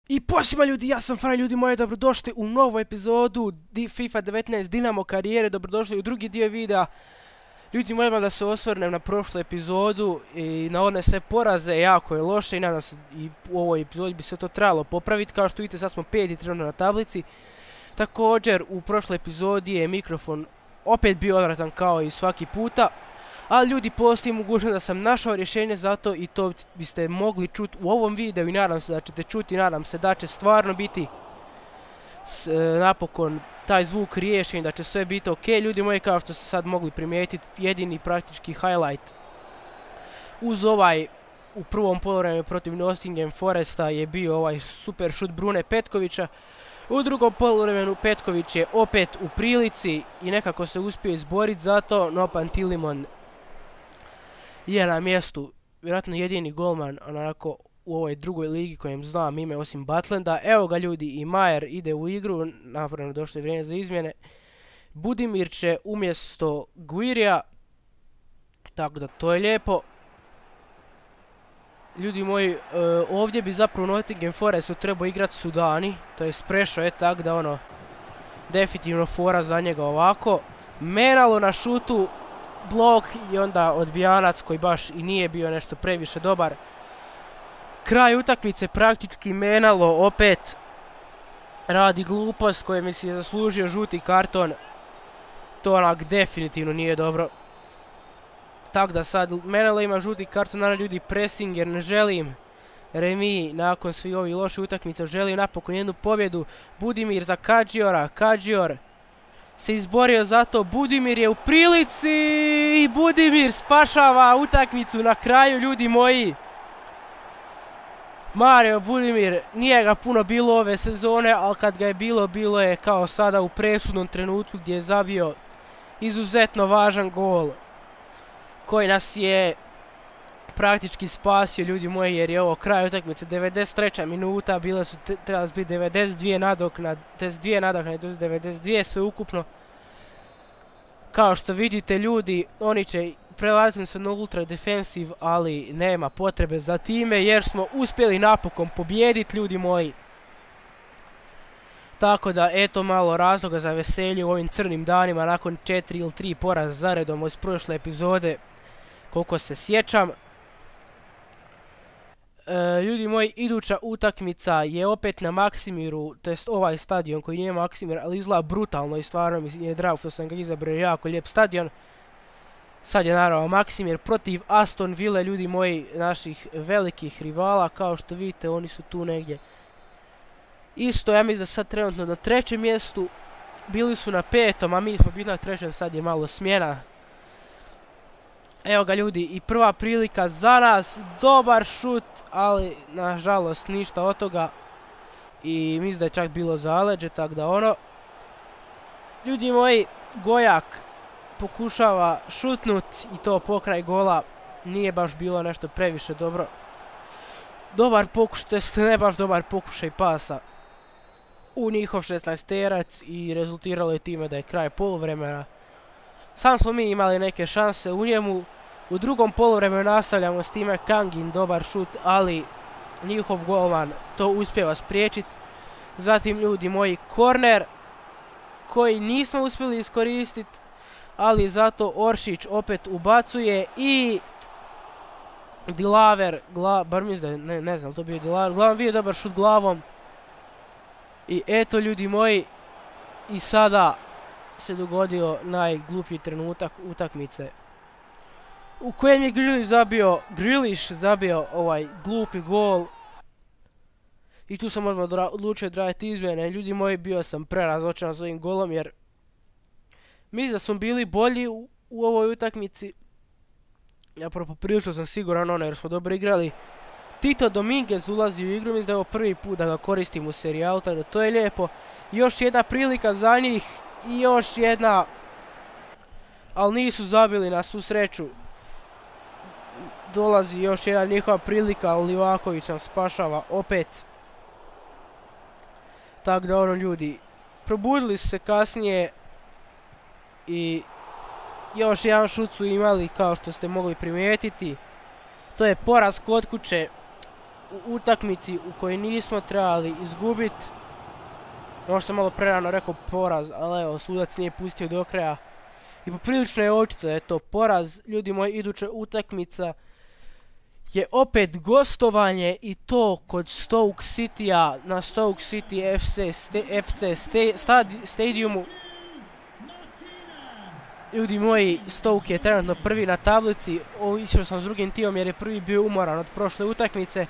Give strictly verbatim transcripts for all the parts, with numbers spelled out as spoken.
I posima ljudi, ja sam Fraj, ljudi moji, dobrodošli u novu epizodu FIFA devetnaest Dinamo karijere, dobrodošli u drugi dio videa. Ljudi moji, da se osvrnem na prošlu epizodu i na one sve poraze, jako je loše i nadam se i u ovoj epizodi bi sve to trebalo popraviti. Kao što vidite, sad smo peti trenutno na tablici. Također, u prošloj epizodi je mikrofon opet bio odvratan kao i svaki puta. Ali ljudi, postoji mogućnost da sam našao rješenje za to i to biste mogli čuti u ovom videu i nadam se da ćete čuti i nadam se da će stvarno biti s, e, napokon taj zvuk riješen, da će sve biti ok. Ljudi moji, kao što ste sad mogli primijetiti, jedini praktički highlight uz ovaj u prvom poluvremenu protiv Nottingham Foresta je bio ovaj super šut Brune Petkovića. U drugom poluvremenu Petković je opet u prilici i nekako se uspio izboriti za to, no Pantilimon je na mjestu, vjerojatno jedini golman onako u ovoj drugoj ligi kojem znam ime osim Butlanda. Evo ga ljudi, i Majer ide u igru, napravno došlo je vrijeme za izmjene. Budimir će umjesto Guirija, tako da to je lijepo. Ljudi moji, e, ovdje bi zapravo Nottingham Forestu trebao igrati Sudani, to je prešao je tak da ono, definitivno fora za njega ovako. Menalo na šutu, blok i onda odbijanac koji baš i nije bio nešto previše dobar. Kraj utakmice praktički Menalo opet radi glupost koje mi se je zaslužio žuti karton. To onak definitivno nije dobro. Tako da sad Menalo ima žuti karton, naravno ljudi, pressing jer ne želim remi nakon svih ovih loših utakmica, želim napokon jednu pobjedu. Budimir za Kadžiora, Kadžior se izborio za to, Budimir je u prilici i Budimir spašava utakmicu na kraju, ljudi moji. Mario Budimir, nije ga puno bilo ove sezone, ali kad ga je bilo, bilo je kao sada u presudnom trenutku gdje je zabio izuzetno važan gol koji nas je praktički spasio, ljudi moji, jer je ovo kraj utakmice, devedeset treća minuta, bile su trebali biti devedeset dvije nadoknade, devedeset dvije nadoknade, devedeset dvije sve ukupno. Kao što vidite ljudi, oni će prelaziti se na ultra defensive, ali nema potrebe za time jer smo uspjeli napokon pobijediti, ljudi moji. Tako da eto malo razloga za veselje u ovim crnim danima nakon četiri ili tri poraza zaredom iz prošle epizode, koliko se sjećam. E, ljudi moji, iduća utakmica je opet na Maksimiru, to jest ovaj stadion koji nije Maksimir, ali izgleda brutalno i stvarno mi je drago što sam ga izabrao, jako lijep stadion. Sad je naravno Maksimir protiv Aston Ville, ljudi moji, naših velikih rivala, kao što vidite oni su tu negdje. Isto, ja mislim da sad trenutno na trećem mjestu, bili su na petom, a mi smo bili na trećem, sad je malo smjena. Evo ga ljudi, i prva prilika za nas, dobar šut, ali nažalost ništa od toga. I mislim da je čak bilo zaleđe, tako da ono. Ljudi moji, Gojak pokušava šutnut i to pokraj gola, nije baš bilo nešto previše dobro. Dobar pokušaj, to jest ne baš dobar pokušaj pasa u njihov šesnaesterac i rezultiralo je time da je kraj poluvremena. Sam smo mi imali neke šanse u njemu. U drugom poluvremenu nastavljamo s time, Kangin dobar šut, ali njihov golman to uspjeva spriječiti. Zatim ljudi moji, korner koji nismo uspjeli iskoristiti, ali zato Oršić opet ubacuje i Dilaver, gla, bar mislim da ne, ne znam, to bio Dilaver, uglavnom bio dobar šut glavom. I eto ljudi moji, i sada se dogodio najgluplji trenutak utakmice u kojem je Grealish zabio, Grealish zabio ovaj glupi gol. I tu sam odmah odlučio odraditi izmjene, ljudi moji, bio sam prerazočaran s ovim golom jer mislim da smo bili bolji u, u ovoj utakmici. Ja poprilično sam siguran ono jer smo dobro igrali. Tito Dominguez ulazi u igru, mislim da je ovo prvi put da ga koristim u serijalu, tako da to je lijepo. Još jedna prilika za njih i još jedna, ali nisu zabili na svu sreću. Dolazi još jedna njihova prilika, ali Livaković nam spašava opet. Tako da ono ljudi, probudili su se kasnije i još jedan šut su imali kao što ste mogli primijetiti. To je poraz kod kuće u utakmici u kojoj nismo trebali izgubiti. Možda sam malo prerano rekao poraz, ali evo, sudac nije pustio do kraja. I poprilično je očito da je to poraz. Ljudi moji, iduća utakmica je opet gostovanje i to kod Stoke City-a na Stoke City F C, F C stadiumu. Ljudi moji, Stoke je trenutno prvi na tablici. Išao sam s drugim timom jer je prvi bio umoran od prošle utakmice.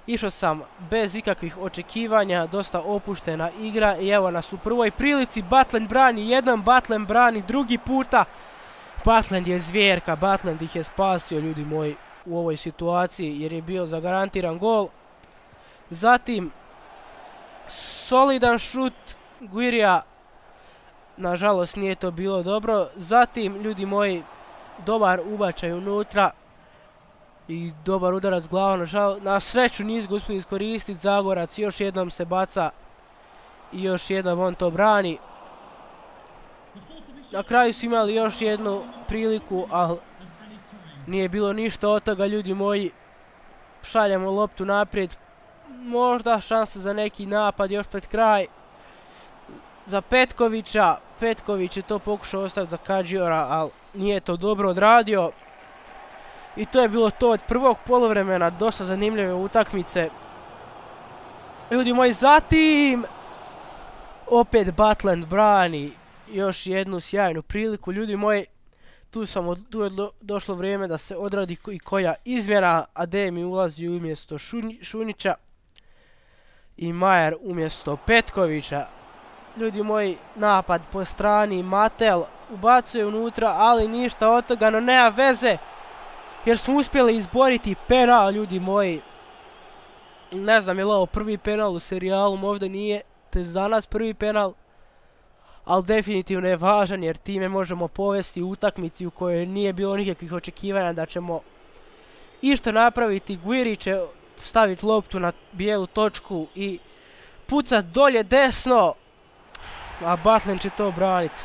Išao sam bez ikakvih očekivanja, dosta opuštena igra i evo nas u prvoj prilici. Butland brani jednom, Butland brani drugi puta. Butland je zvjerka, Butland ih je spasio, ljudi moji, u ovoj situaciji jer je bio zagarantiran gol. Zatim, solidan šut Guirija, nažalost nije to bilo dobro. Zatim, ljudi moji, dobar ubačaj unutra i dobar udarac glavom, na sreću nisu ga uspjeli iskoristiti. Zagorac još jednom se baca i još jednom on to brani. Na kraju su imali još jednu priliku, ali nije bilo ništa od toga, ljudi moji. Šaljemo loptu naprijed, možda šansa za neki napad još pred kraj za Petkovića. Petković je to pokušao ostaviti za Kadžiora, ali nije to dobro odradio. I to je bilo to od prvog poluvremena, dosta zanimljive utakmice. Ljudi moji, zatim opet Butland brani još jednu sjajnu priliku. Ljudi moji, tu, sam, tu je do, došlo vrijeme da se odradi i koja izmjena. Ademi ulazi umjesto Šunića i Majer umjesto Petkovića. Ljudi moji, napad po strani, Matel ubacuje unutra, ali ništa od toga, no nema veze. Jer smo uspjeli izboriti penal, ljudi moji. Ne znam je li ovo prvi penal u serijalu, možda nije. To je za nas prvi penal. Ali definitivno je važan jer time možemo povesti utakmici u kojoj nije bilo nikakvih očekivanja da ćemo išto napraviti. Guiri će staviti loptu na bijelu točku i pucat dolje desno. A Butland će to braniti.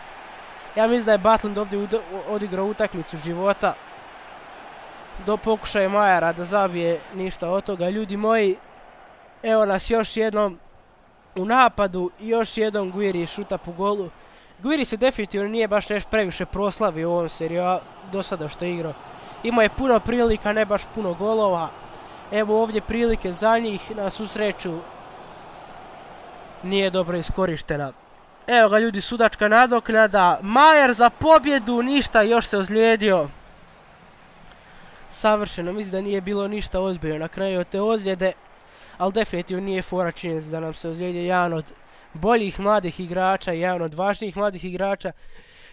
Ja mislim da je Butland ovdje odigrao utakmicu života. Do pokušaja Majera da zabije ništa od toga. Ljudi moji, evo nas još jednom u napadu i još jednom Guiri šuta po golu. Guiri se definitivno nije baš nešto previše proslavio u ovom seriju do sada što je igrao. Imao je puno prilika, ne baš puno golova. Evo ovdje prilike za njih, na svu sreću nije dobro iskorištena. Evo ga ljudi, sudačka nadoknada. Majer za pobjedu, ništa, još se ozlijedio. Savršeno, mislim da nije bilo ništa ozbiljno na kraju od te ozljede. Ali definitivno nije fora činjenica da nam se ozlijedio jedan od boljih mladih igrača, jedan od važnijih mladih igrača.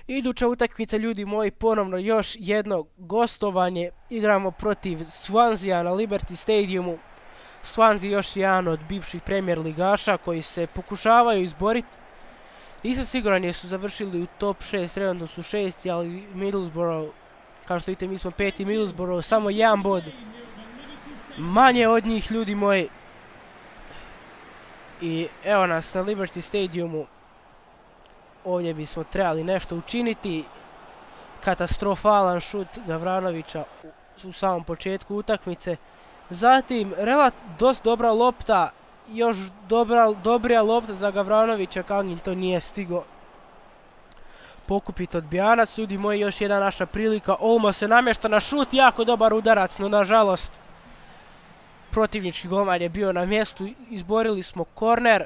Iduća utakmica, ljudi moji, ponovno još jedno gostovanje. Igramo protiv Swansea na Liberty Stadiumu. Swansea još jedan od bivših Premier ligaša koji se pokušavaju izboriti. Nisam siguran jer su završili u top šest, trenutno su šesti, ali Middlesbrough, kao što vidite, mi smo peti, Middlesbrough samo jedan bod manje od njih, ljudi moji. I evo nas na Liberty Stadiumu. Ovdje bismo trebali nešto učiniti. Katastrofalan šut Gavranovića u samom početku utakmice. Zatim, dosta dobra lopta, još dobra, dobrija lopta za Gavranovića, Kangin to nije stigo pokupiti odbijanac. Ljudi moji, još jedna naša prilika. Olmo se namješta na šut, jako dobar udarac, no nažalost protivnički golman je bio na mjestu. Izborili smo korner.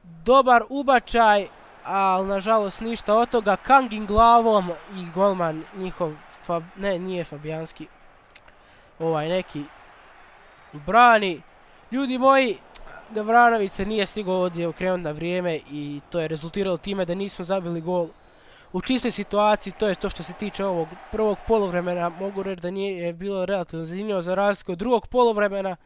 Dobar ubačaj, ali nažalost ništa od toga. Kangin glavom i golman njihov, Fab, ne, nije Fabijanski, ovaj neki brani. Ljudi moji, Gavranović se nije stigao ovdje okrenuti na vrijeme i to je rezultiralo time da nismo zabili gol u čistoj situaciji. To je to što se tiče ovog prvog poluvremena. Mogu reći da nije bilo relativno zanimljivo za razliku od drugog poluvremena,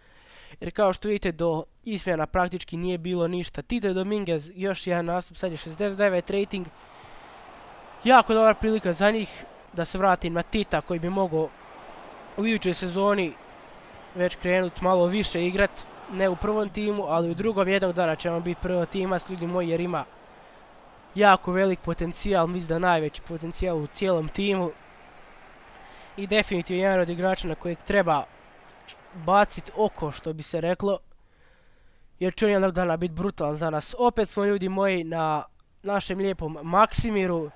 jer kao što vidite do izmjena praktički nije bilo ništa. Tite Dominguez, još jedan nastup, sad je šezdeset devet rating. Jako dobra prilika za njih da se vratim na Tita koji bi mogao u idućoj sezoni već krenuti malo više igrat. Ne u prvom timu, ali u drugom. Jednog dana ćemo biti prvo timac, ljudi moji, jer ima jako velik potencijal, mislim da najveći potencijal u cijelom timu. I definitivno jedan od igrača na kojeg treba bacit oko, što bi se reklo. Jer će on jednog dana biti brutalan za nas. Opet smo, ljudi moji, na našem lijepom Maksimiru.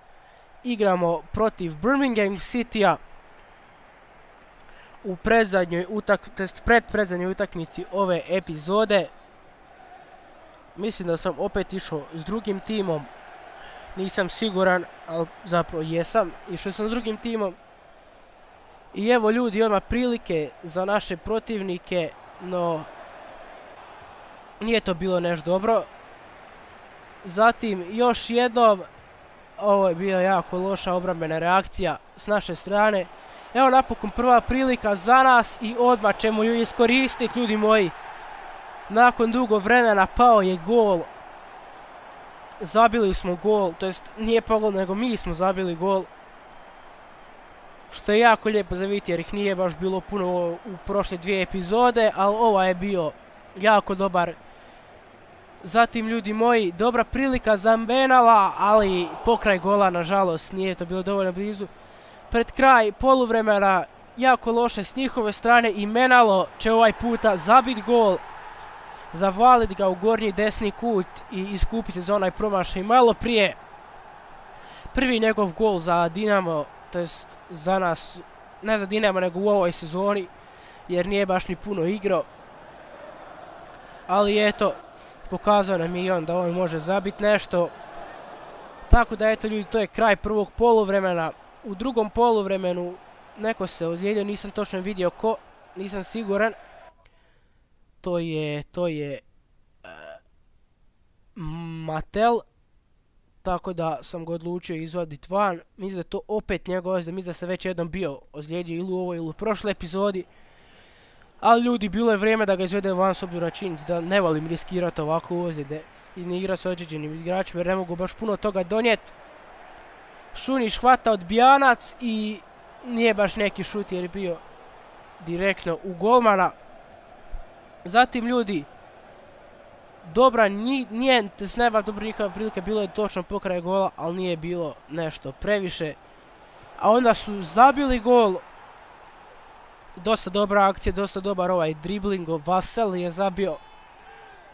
Igramo protiv Birmingham Citya u predzadnjoj utak, test pred predzadnjoj utakmici ove epizode. Mislim da sam opet išao s drugim timom. Nisam siguran, ali zapravo jesam. Išao sam s drugim timom. I evo, ljudi, odmah prilike za naše protivnike, no nije to bilo nešto dobro. Zatim, još jednom, ovo je bila jako loša obrambena reakcija s naše strane. Evo napokon prva prilika za nas i odmah ćemo ju iskoristiti, ljudi moji. Nakon dugo vremena pao je gol. Zabili smo gol, to jest nije pao gol, nego mi smo zabili gol. Što je jako lijepo za vidjeti jer ih nije baš bilo puno u prošle dvije epizode, ali ova je bio jako dobar. Zatim, ljudi moji, dobra prilika za Mbenala, ali pokraj gola, nažalost, nije to bilo dovoljno blizu. Pred kraj poluvremena, jako loše s njihove strane i Menalo će ovaj puta zabiti gol. Zavaliti ga u gornji desni kut i iskupiti se za onaj promašaj malo prije. Prvi njegov gol za Dinamo, to jest za nas, ne za Dinamo nego u ovoj sezoni, jer nije baš ni puno igrao. Ali eto, pokazao nam je i on da on može zabiti nešto. Tako da eto, ljudi, to je kraj prvog poluvremena. U drugom poluvremenu neko se ozlijedio, nisam točno vidio ko, nisam siguran. To je, to je uh, Matel. Tako da sam ga odlučio izvaditi van. Mislim da je to opet njegov ozljed, mislim da se već jednom bio ozlijedio ili u ovoj ili u prošloj epizodi. Ali, ljudi, bilo je vrijeme da ga izvede van s obzirom na činjenicu da ne volim riskirati ovako ozljede i ne igra s određenim igračima jer ne mogu baš puno toga donijeti. Šunić hvata odbijanac i nije baš neki šut jer je bio direktno u golmana. Zatim, ljudi, dobra, nije sneva dobra njihova prilika, bilo je točno pokraj gola, ali nije bilo nešto previše. A onda su zabili gol. Dosta dobra akcija, dosta dobar ovaj dribling, Vassell je zabio.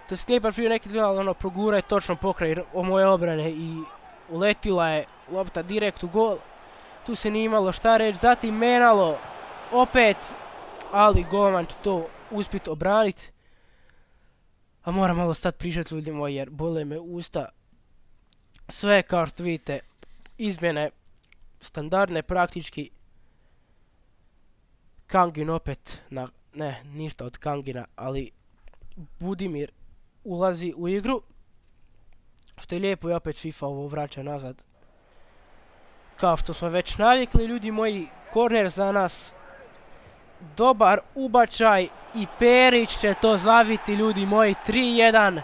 To je baš bio neki dribling, ali ono progura je točno pokraj moje obrane i uletila je lopta direkt u gol. Tu se nije imalo šta reći. Zatim Menalo opet, ali golman će to uspjeti obraniti. A moram malo stati pričati, ljudi moji, jer bole me usta. Sve, kao što vidite, izmjene standardne praktički. Kangin opet, na, ne, ništa od Kangina, ali Budimir ulazi u igru. Što je lijepo i opet FIFA ovo vraća nazad. Kao što smo već navikli, ljudi moji, korner za nas. Dobar ubačaj i Perić će to zaviti, ljudi moji, tri jedan.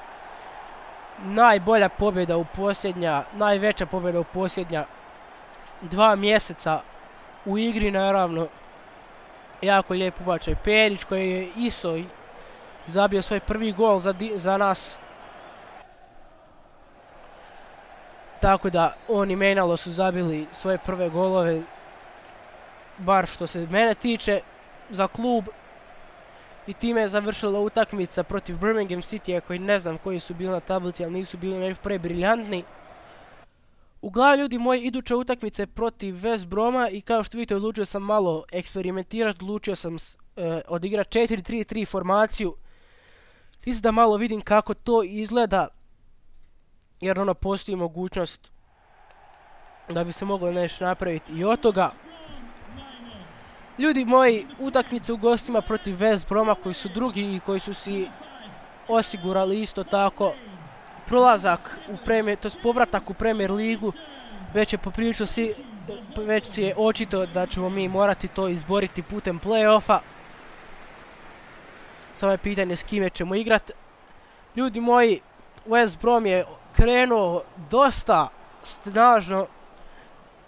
Najbolja pobjeda u posljednja, najveća pobjeda u posljednja dva mjeseca u igri, naravno. Jako lijep ubačaj Perić koji je isto zabio svoj prvi gol za, za nas. Tako da on i Menalo su zabili svoje prve golove, bar što se mene tiče, za klub. I time je završila utakmica protiv Birmingham Citya, koji ne znam koji su bili na tablici, ali nisu bili nešto prebriljantni. Uglavnom, ljudi moji, iduća utakmica je protiv West Broma i kao što vidite, odlučio sam malo eksperimentirati, odlučio sam uh, odigrati četiri tri tri formaciju. Čisto da malo vidim kako to izgleda, jer ono postoji mogućnost da bi se moglo nešto napraviti i od toga. Ljudi moji, utakmice u gostima protiv West Broma koji su drugi i koji su si osigurali isto tako prolazak u Premier, to jest povratak u Premier ligu, već je poprilično si, već je očito da ćemo mi morati to izboriti putem play-offa. Samo je pitanje s kime ćemo igrati. Ljudi moji, West Brom je krenuo dosta snažno.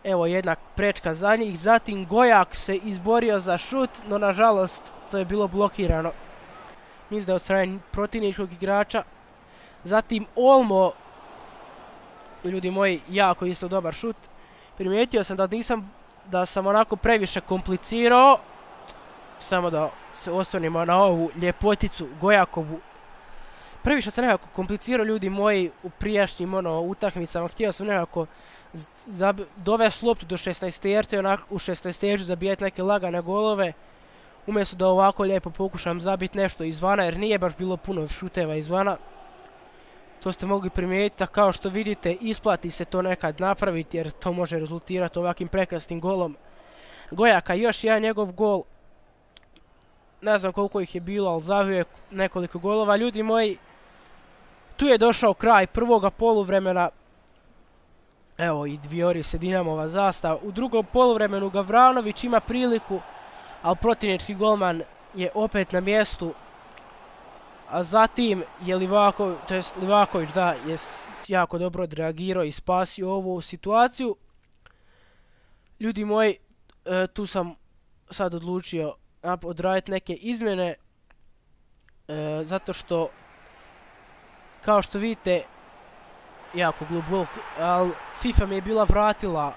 Evo jedna prečka za njih. Zatim Gojak se izborio za šut, no nažalost to je bilo blokirano. Mislim da je od strane protivničkog igrača. Zatim Olmo, ljudi moji, jako isto dobar šut. Primijetio sam da nisam, da sam onako previše komplicirao. samo da se osvrnimo na ovu ljepoticu Gojakovu. Previše se nekako komplicirao, ljudi moji, u prijašnjim ono, utakmicama. Htio sam nekako dovesti loptu do šesnaesterca i onak u šesnaestercu zabijeti neke lagane golove. Umjesto da ovako lijepo pokušam zabiti nešto izvana, jer nije baš bilo puno šuteva izvana. To ste mogli primijetiti, a kao što vidite isplati se to nekad napraviti, jer to može rezultirati ovakvim prekrasnim golom Gojaka. Još jedan njegov gol. Ne znam koliko ih je bilo, ali zavio je nekoliko golova. Ljudi moji, tu je došao kraj prvoga poluvremena. Evo i dvijori se Dinamova zastava. U drugom poluvremenu Gavranović ima priliku, ali protivnički golman je opet na mjestu. A zatim je Livaković, to jest Livaković, da, je jako dobro odreagirao i spasio ovu situaciju. Ljudi moji, e, tu sam sad odlučio odraditi neke izmjene, e, zato što, kao što vidite, jako glubok, ali FIFA mi je bila vratila,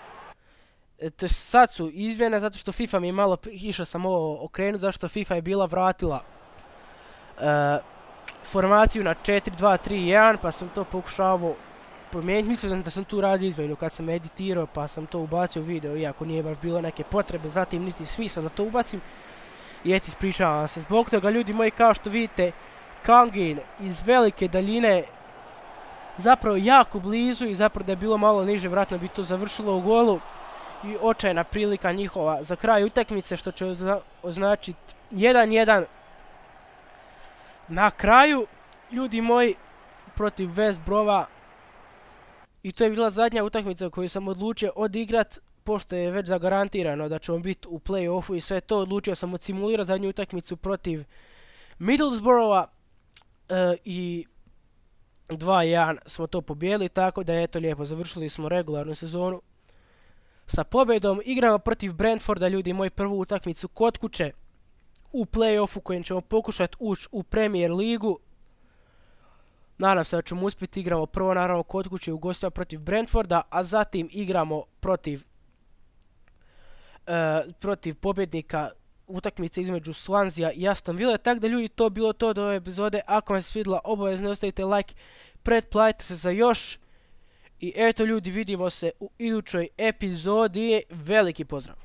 e, to sad su izmjene, zato što FIFA mi je malo, išao sam ovo okrenuti, zato što FIFA je bila vratila e, formaciju na četiri dva tri jedan, pa sam to pokušavao promijeniti. Mislim da sam tu radio izmjenu kad sam editirao, pa sam to ubacio u video, iako nije baš bilo neke potrebe, zatim niti smisla da to ubacim. I eto, ispričavam se zbog toga, ljudi moji, kao što vidite, Kangin iz velike daljine, zapravo jako blizu, i zapravo da je bilo malo niže, vratno bi to završilo u golu. I očajna prilika njihova za kraj utakmice, što će označiti jedan jedan. Na kraju, ljudi moji, protiv West Broma. I to je bila zadnja utakmica koju sam odlučio odigrat, pošto je već zagarantirano da ćemo biti u play-offu i sve to. Odlučio sam odsimulirati zadnju utakmicu protiv Middlesbrougha e, i dva jedan smo to pobijeli, tako da eto lijepo završili smo regularnu sezonu sa pobjedom. Igramo protiv Brentforda, ljudi moji, prvu utakmicu kod kuće u play-offu kojim ćemo pokušati ući u Premier ligu. Nadam se da ćemo uspjeti. Igramo prvo naravno kod kuće u gostima protiv Brentforda, a zatim igramo protiv uh, protiv pobjednika utakmice između Swansea i Aston Ville. Tako da, ljudi, to bilo to do ove epizode. Ako vam se svidjela, obavezno ostavite like, pretplatite se za još. I eto, ljudi, vidimo se u idućoj epizodi. Veliki pozdrav!